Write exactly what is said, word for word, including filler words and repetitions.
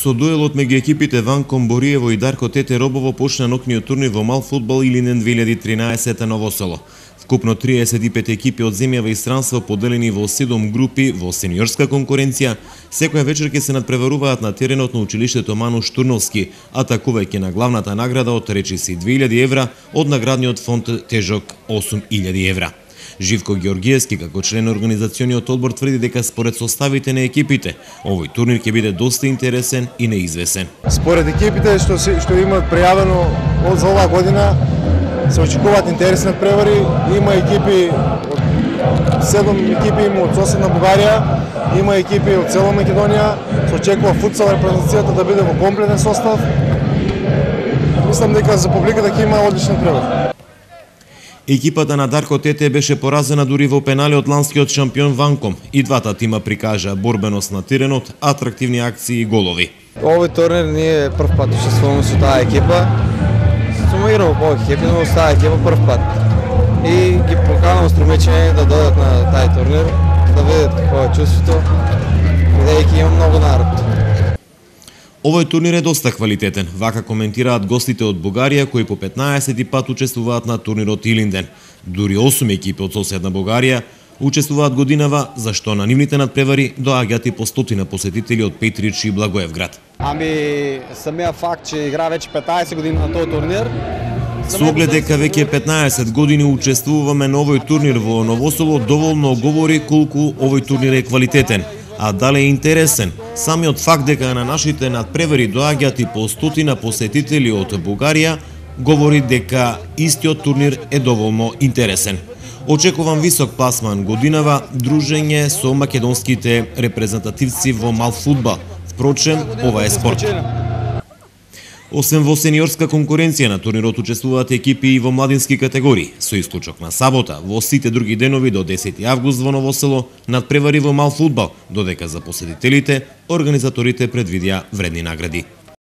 Со дуелот меѓу екипите Ванком Бориево и Дарко Тете Робово почна ноќниот турнир во мал фудбал Илинден две илјади и тринаесетта Ново Село. Вкупно триесет и пет екипи од земјава и странство поделени во седум групи во сениорска конкуренција, секоја вечер ќе се надпреваруваат на теренот на училиштето Мануш Турновски, атакувајќи на главната награда од речиси две илјади евра од наградниот фонд тежок осум илјади евра. Живко Георгиевски, како член на организациониот одбор, тврди дека според составите на екипите, овој турнир ќе биде доста интересен и неизвесен. Според екипите што се, што имаат пријавено од за оваа година, се очекуваат интересни превари. Има екипи од седум екипи има од соседна Бугарија, има екипи од цела Македонија. Се очекува футсал репрезентацијата да биде во комплетен состав. Мислам дека за публиката ќе има одличен превар. Екипата на Дарко Тете беше поразена дури во пенали од ланскиот шампион Ванком. И двата тима прикажаа борбеност на теренот, атрактивни акции и голови. Овој турнир ние прв пат учествуваме со таа екипа. Сум играл во повеќе екипи, но со таа екипа прв пат. И ги поканувам стремечени да додат на тај турнир, да видат какво е чувството, бидејќи има многу народ. Овој турнир е доста квалитетен, вака коментираат гостите од Бугарија кои по петнаесети пат учествуваат на турнирот Илинден. Дури осум екипи од соседна Бугарија учествуваат годинава, зашто на нивните надпревари доаѓаат и по стотина посетители од Петрич и Благоевград. Ами, самиот факт че игра веќе петнаесет години на тој турнир. Со оглед дека веќе петнаесет години учествуваме на овој турнир во Ново Село, доволно говори колку овој турнир е квалитетен. А дали е интересен, самиот факт дека на нашите надпревари доаѓаат и по стотина посетители од Бугарија, говори дека истиот турнир е доволно интересен. Очекувам висок пласман годинава, дружење со македонските репрезентативци во мал фудбал. Впрочем, ова е спорт. Освен во сениорска конкуренција на турнирот учествуваат екипи и во младински категории, со исклучок на сабота, во сите други денови до десети август во Ново Село, надпревари во мал фудбал, додека за посетителите, организаторите предвидија вредни награди.